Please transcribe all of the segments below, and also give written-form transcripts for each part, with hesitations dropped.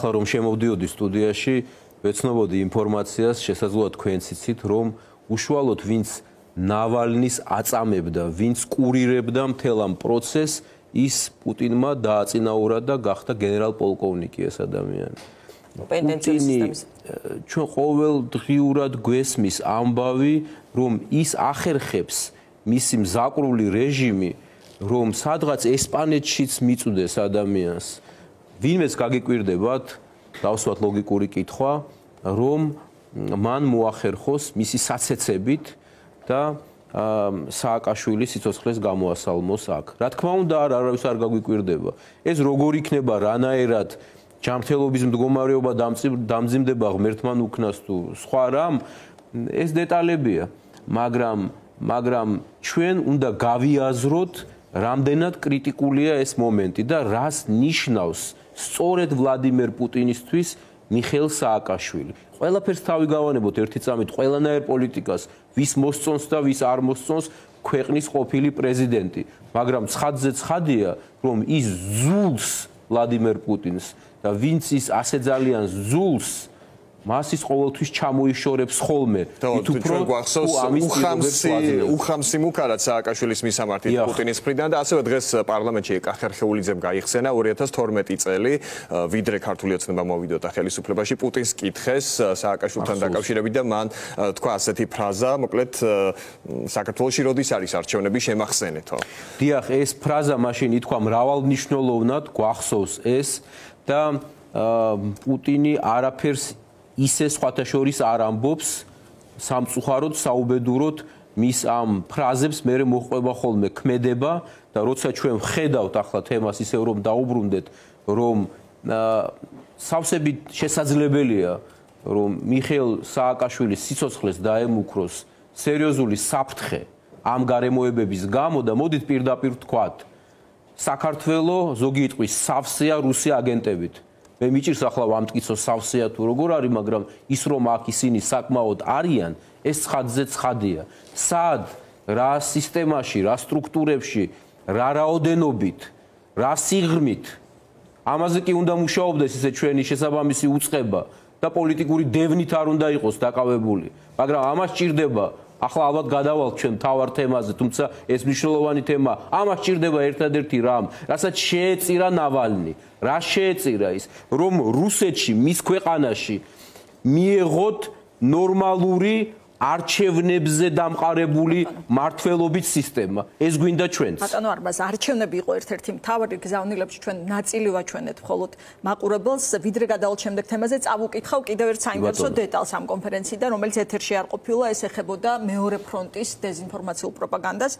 ახლა რომ შემოვდიოდი სტუდიაში, ვეცნობოდი ინფორმაციას, შესაძლოა თქვენც იცით, რომ უშუალოდ ვინც ნავალნის აწამებდა, ვინც კურირებდა მთელ ამ პროცესს, ის პუტინმა დააწინაურა და გახდა გენერალ-პოლკოვნიკი ეს ადამიანი. პუტინი ჩვენ ყოველდღიურად გვესმის ამბავი, რომ ის ახერხებს მისი მზაკრული რეჟიმი, რომ სადღაც ესპანეთშიც მიწვდეს ადამიანს. ვინმეც გაგიკვირდებათ, დავსვათ ლოგიკური კითხვა, რომ მან მოახერხოს მისი საცეცებით და სააკაშვილი სიცოცხლეს გამოასალმოს აქ. რა თქმა უნდა, არავის არ გაგვიკვირდება. ეს როგორ იქნება, რანაირად ჯანმრთელობის მდგომარეობა დამძიმდება ღმერთმან უქნას თუ სხვა რამ, ეს დეტალებია, მაგრამ ჩვენ უნდა გავიაზროთ, რამდენად კრიტიკულია ეს მომენტი და რას ნიშნავს სწორედ ვლადიმერ პუტინისთვის მიხეილ სააკაშვილი. ყველაფერს თავი გავანებოთ ერთი წამით, ყველანაირ პოლიტიკას, ვის მოსწონს და ვის არ მოსწონს ქვეყნის ყოფილი პრეზიდენტი, მაგრამ ცხადზე ცხადია, რომ ის ზულს ვლადიმერ პუტინს და ვინც ის ასე ძალიან ზულს, მას ის ყოველთვის ჩამოიშორებს ხოლმე. ჩვენ გვახსოვს უხამსი მუქარად სააკაშვილის მისამართით პუტინის მხრიდან და ასევე დღეს პარლამენტში კახერხეულიძემ გაიხსენა 2012 წელი, ვიდრე ქართული ოცნება მოვიდოდა ხელისუფლებაში, პუტინს კითხეს სააკაშვილთან დაკავშირებით და მან თქვა ასეთი ფრაზა, მოკლედ საქართველოში როდის არის არჩევნები შემახსენეთო. დიახ, ეს ფრაზა მაშინ ითქვა მრავალმნიშვნელოვნად, გვახსოვს ეს და პუტინი არაფერს ისე სხვათა შორის არ ამბობს სამწუხაროდ, საუბედუროდ მის ამ ფრაზებს მერე მოჰყვება ხოლმე ქმედება და როცა ჩვენ ვხედავთ ახლა თემას ისევ რომ დაუბრუნდეთ, რომ სავსებით შესაძლებელია, რომ მიხეილ სააკაშვილის სიცოცხლეს დაემუქროს სერიოზული საფრთხე ამ გარემოებების გამო და მოდით პირდაპირ ვთქვათ, საქართველოს ზოგი იტყვის სავსეა რუსი აგენტებით. მე მიჭირს ახლა ვამტკიცო სავსეა თუ როგორ არის, მაგრამ ის რომ აქ ისინი საკმაოდ არიან, ეს ცხადზე ცხადია. სად, რა სისტემაში, რა სტრუქტურებში, რა რაოდენობით, რა სიღრმით, ამაზე კი უნდა მუშაობდეს ისე ჩვენი შესაბამისი უწყება და პოლიტიკური დევნით არ უნდა იყოს დაკავებული, მაგრამ ამას ჭირდება. ახლა ალბათ გადავალთ ჩვენ თავარ თემაზე, თუმცა ეს მნიშვნელოვანი თემა. ამას ჭირდება ერთადერთი რამ, რასაც შეეწირა ნავალნი. რა შეეწირა ის, რომ რუსეთში, მის ქვეყანაში მიეღოთ ნორმალური არჩევნებზე დამყარებული მართლობის სისტემა. ეს გვინდა ჩვენც. ბატონო არბაზ, არჩევნები იყო ერთ-ერთი მთავარი გზავნილებში, ჩვენ ნაწილი ვაჩვენეთ მხოლოდ მაყურებელს, ვიდრე გადავალთ შემდეგ თემაზე, წავუკითხავ კიდევ ერთ საინტერესო დეტალს ამ კონფერენციიდან, რომელიც ეთერში არ ყოფილა, ეს ეხებოდა მეორე ფრონტის დეზინფორმაციულ პროპაგანდას.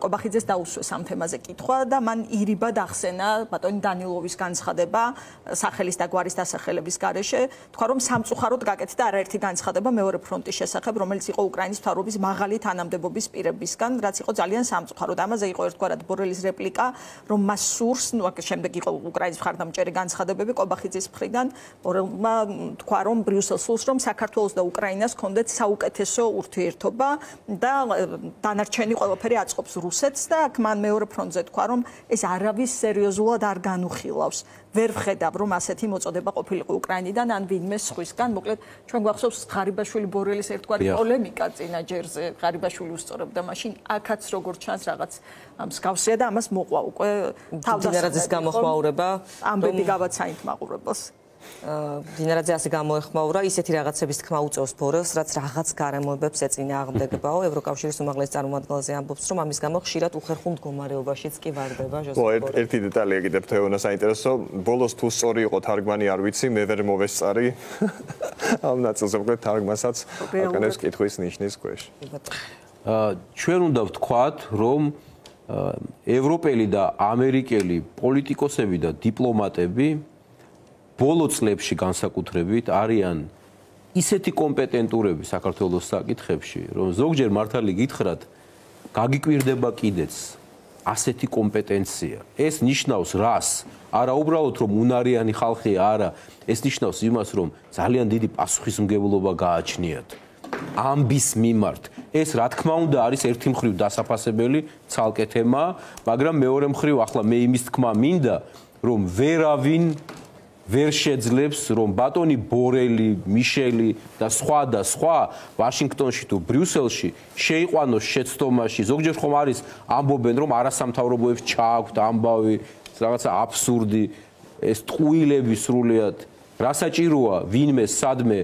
კობახიძეს დაუსვეს ამ თემაზე კითხვა და მან ირიბად ახსენა ბატონი დანილოვის განცხადება სახელის და გვარის დასახელების გარეშე, თქვა რომ სამწუხაროდ გაკეთდა არაერთი განცხადება მეორე ფრონტის შესახებ, რომელიც იყო უკრაინის მთავრობის მაღალი თანამდებობის პირებისგან, რაც იყო ძალიან სამწუხაროდ. ამაზე იყო ერთგვარად ბორელის რეპლიკა, რომ მას სურს, ნუ აქ შემდეგ იყო უკრაინის მხარდამჭერი განცხადებები კობახიძის მხრიდან, ბორელმა თქვა რომ ბრიუსელს სურს, რომ საქართველოს და უკრაინას ჰქონდეთ საუკეთესო ურთიერთობა და დანარჩენი ყველაფერი აწყობს რუსეთს და აქ მან მეორე ფრონტზე თქვა, რომ ეს არავის სერიოზულად არ განუხილავს. ვერ ვხედავ, რომ ასეთი მოწოდება ყოფილიყო უკრაინიდან ან ვინმე სხვისგან. მოკლედ, ჩვენ გვახსოვს ღარიბაშვილი ბორელის ერთგვარი პოლემიკა წინა ჯერზე, ღარიბაშვილი უსწორებდა მაშინ, აქაც როგორც ჩანს რაღაც მსგავსია და ამას მოყვა უკვე თავდასხმების გამოხმაურება. ამბები გავაცაინთ მაყურებელს. დინარაძე ასე გამოეხმაურა, ისეთი რაღაცების თქმა უწევს ბორელს, რაც რაღაც გარემოებებს ეწინააღმდეგებაო. ევროკავშირის უმაღლეს წარმომადგენელზე ამბობს, რომ ამის გამო ხშირად უხერხულ მდგომარეობაშიც კი ვარდება ჟოზეფ ბორელი. ერთი დეტალია კიდევ თეონა საინტერესო, ბოლოს თუ სწორი იყო თარგმანი არ ვიცი, მე ვერ მოვესწარი. ამ ნაწილზე მოკლედ თარგმანსაც აკანებს კითხვის ნიშნის ქვეშ. ჩვენ უნდა ვთქვათ, რომ ევროპელი და ამერიკელი პოლიტიკოსები და დიპლომატები ბოლო წლებში განსაკუთრებით არიან ისეთი კომპეტენტურები საქართველოს საკითხებში, რომ ზოგჯერ მართალი გითხრათ, გაგიკვირდება კიდეც ასეთი კომპეტენცია. ეს ნიშნავს რას? არა უბრალოდ რომ უნარიანი ხალხია, არა, ეს ნიშნავს იმას, რომ ძალიან დიდი პასუხისმგებლობა გააჩნიათ ამბის მიმართ. ეს რა თქმა უნდა არის ერთი მხრივ დასაფასებელი ცალკე თემა, მაგრამ მეორე მხრივ ახლა მე იმის თქმა მინდა, რომ ვერ შეძლებს რომ ბატონი ბორელი, მიშელი და სხვა ვაშინგტონში თუ ბრიუსელში შეიყვანოს შეცდომაში. ზოგჯერ ხომ არის ამბობენ რომ არასამთავრობოებს ჩააქვთ ამბავი, რაღაცა აბსურდი, ეს ტყუილები სრულიად. რა საჭიროა ვინმე სადმე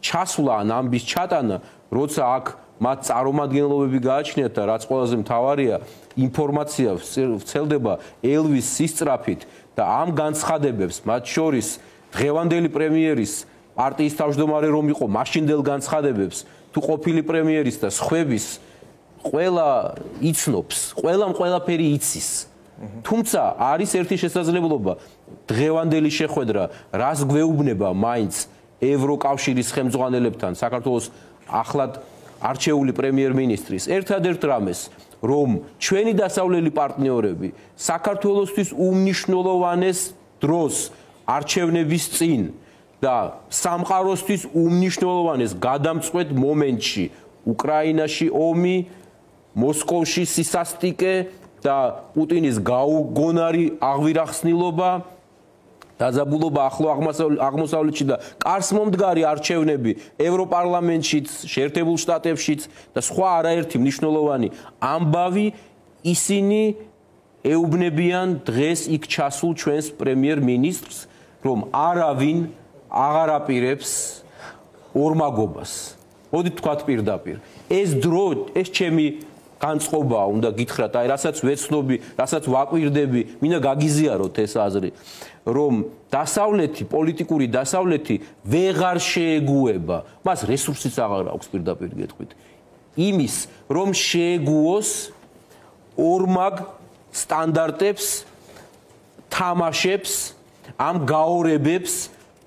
ჩასვლა ან ამბის ჩატანა, როცა აქ მათ წარმომადგენლობები გააჩნიათ და რაც ყველაზე მთავარია, ინფორმაცია ვრცელდება ელვის სისწრაფით და ამ განცხადებებს, მათ შორის დღევანდელი პრემიერის პარტიის თავმჯდომარე რომ იყო, მაშინდელ განცხადებებს თუ ყოფილი პრემიერის და სხვების ყველა იცნობს, ყველაფერი იცის. თუმცა არის ერთი შესაძლებლობა, დღევანდელი შეხვედრა რას გვეუბნება მაინც ევროკავშირის ხელმძღვანელებთან, საქართველოს ახლად არჩეული პრემიერ-მინისტრის ერთადერთ რამეს, რომ ჩვენი დასავლელი პარტნიორები საქართველოსთვის უმნიშვნელოვანეს დროს არჩევნების წინ და სამყაროსთვის უმნიშვნელოვანეს გადამწყვეტ მომენტში, უკრაინაში ომი, მოსკოვში სისასტიკე და პუტინის გაუგონარი აღვირახსნილობა, დაძაბულობა ახლო აღმოსავლეთში და კარს მომდგარი არჩევნები ევროპარლამენტშიც, შეერთებულ შტატებშიც და სხვა არაერთი მნიშვნელოვანი ამბავი, ისინი ეუბნებიან დღეს იქ ჩასულ ჩვენს პრემიერ-მინისტრს, რომ არავინ აღარ აპირებს ორმაგობას. მოდით თქვათ პირდაპირ. ეს დრო, ეს ჩემი განწყობაა, უნდა გითხრათ, აი რასაც ვეცნობი, რასაც ვაკვირდები, მინდა გაგიზიაროთ ეს აზრი, რომ დასავლეთი, პოლიტიკური დასავლეთი ვეღარ შეეგუება, მას რესურსიც აღარ აქვს პირდაპირ გეტყვით. იმის, რომ შეეგუოს ორმაგ სტანდარტებს, თამაშებს, ამ გაორებებს,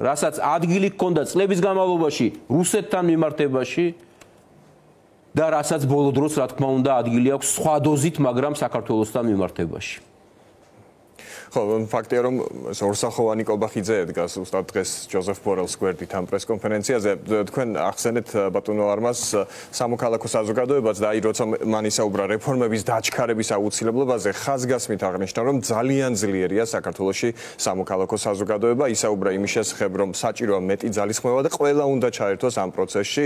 რასაც ადგილი ჰქონდა წლების განმავლობაში რუსეთთან მიმართებაში და რასაც ბოლო დროს, რა თქმა უნდა, ადგილი აქვს სხვა დოზით, მაგრამ საქართველოსთან მიმართებაში. ხო, ფაქტია რომ ორსახოვანი კობახიძე ედგას უბრალოდ დღეს ჯოზეფ ბორელს გვერდით ამ პრესკონფერენციაზე. თქვენ ახსენეთ ბატონო არმას სამოქალაქო საზოგადოებას და აი როცა მან ისაუბრა რეფორმების დაჩქარების აუცილებლობაზე, ხაზგასმით აღნიშნა რომ ძალიან ძლიერია საქართველოში სამოქალაქო საზოგადოება, ისაუბრა იმის შესახებ რომ საჭიროა მეტი ძალისხმევა და ყველა უნდა ჩაერთოს ამ პროცესში.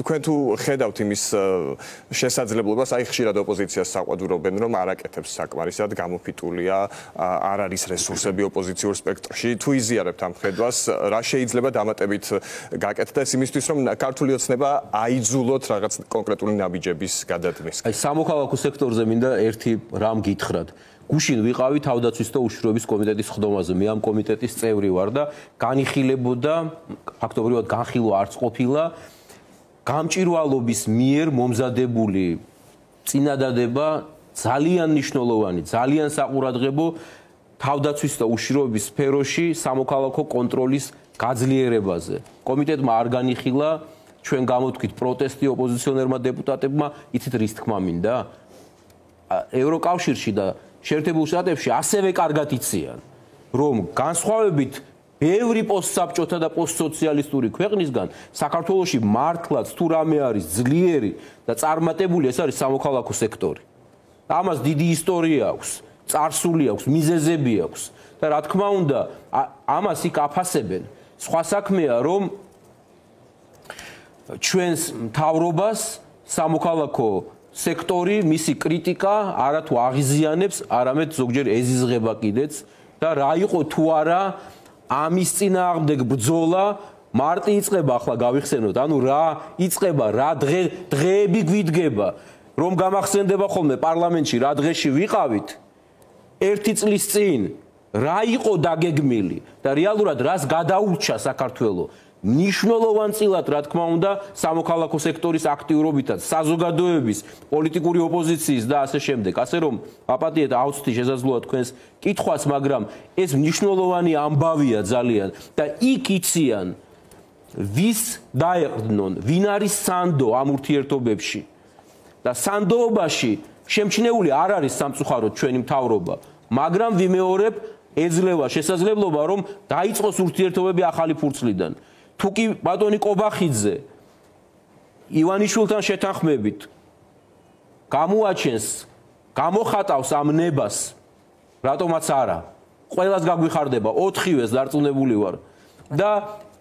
თქვენ თუ ხედავთ იმის შესაძლებლობას, აი ხშირად ოპოზიციას საყვადურობენ რომ არაკეთებს საკმარისად, გამოფიტულია, არ არის რესურსები ოპოზიციურ სპექტრში. თუ იზიარებთ ამ ხედვას, რა შეიძლება დამატებით გაკეთდეს იმისთვის, რომ ქართული ოცნება აიძულოთ რაღაც კონკრეტული ნაბიჯების გადადგმის? აი სამოქალაქო სექტორზე მინდა ერთი რამ გითხრათ. გუშინ ვიყავი თავდაცვის და უშიშროების კომიტეტის ხდომაზე. მე ამ კომიტეტის წევრი ვარ და განიხილებოდა, ფაქტობრივად განხილვა არც ყოფილა, გამჭვირვალობის მიერ მომზადებული წინადადება ძალიან მნიშვნელოვანი, ძალიან საყურადღებო თავდაცვის და უშიშროების სფეროში სამოქალაქო კონტროლის გაძლიერებაზე. კომიტეტმა არ განიხილა, ჩვენ გამოთქვით პროტესტი ოპოზიციონერმა დეპუტატებმა, იცით რის თქმა მინდა? ევროკავშირში და შეერთებულ შტატებში ასევე კარგად იციან, რომ განსხვავებით ბევრი პოსტსაბჭოთა და პოსტსოციალისტური ქვეყნისგან საქართველოში მართლაც თუ რამე არის ძლიერი და წარმატებული, ეს არის სამოქალაქო სექტორი. ამას დიდი ისტორია აქვს, წარსული აქვს, მიზეზები აქვს და რა თქმა უნდა, ამას იქ აფასებენ. სხვა საქმეა, რომ ჩვენს მთავრობას სამოქალაქო სექტორი, მისი კრიტიკა არათუ აღიზიანებს, არამედ ზოგჯერ ეზიზღება კიდეც და რა იყო თუ არა ამის წინააღმდეგ ბრძოლა მარტი იწყება, ახლა გავიხსენოთ, ანუ რა იწყება, რა დღეები გვიდგება. რომ გამახსენდება ხოლმე პარლამენტში რა დღეში ვიყავით 1 წლის წინ რა იყო დაგეგმილი და რეალურად რას გადაურჩა საქართველო მნიშვნელოვანწილად რა თქმა უნდა სამოქალაქო სექტორის აქტიურობითაც საზოგადოების პოლიტიკური ოპოზიციის და ასე შემდეგ ასე რომ აპატიეთ აუცდი შესაძლოა თქვენს კითხვას მაგრამ ეს მნიშვნელოვანი ამბავია ძალიან და იქ იციან ვის დაეყრდნონ ვინ არის სანდო ამ ურთიერთობებში და სანდოობაში შემჩნეული არ არის სამწუხაროდ ჩვენი მთავრობა, მაგრამ ვიმეორებ ეძლევა შესაძლებლობა რომ დაიწყოს ურთიერთობები ახალი ფურცლიდან. თუ კი ბატონი კობახიძე ივანიშვილთან შეთანხმებით გამოაჩენს, გამოხატავს ამ ნებას, რატომაც არა, ყველას გაგვიხარდება 4-ვეს დარწმუნებული ვარ და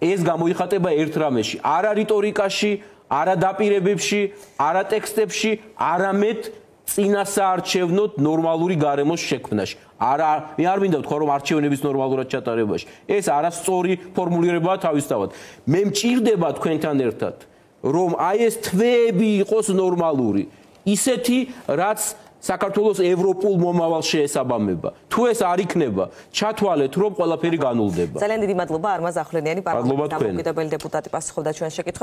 ეს გამოიხატება ერთ რამეში არა რიტორიკაში არა დაპირებებში არა ტექსტებში არამედ წინასაარჩევნოდ ნორმალური გარემოს შექმნაში მე არ მინდა ვთქვა რომ არჩევნების ნორმალურად ჩატარებაში ეს არასწორი ფორმულირებაა თავისთავად მე მჭირდება თქვენთან ერთად რომ აი ეს თვეები იყოს ნორმალური ისეთი რაც საქართველოს ევროპულ მომავალს შეესაბამება თუ ეს არ იქნება ჩათვალეთ რომ ყველაფერი განულდება ძალიან დიდი მადლობა არმაზ ახვლენიანი პარლამენტის დამოუკიდებელი დეპუტატი პასუხობდა ჩვენს შეკითხვებს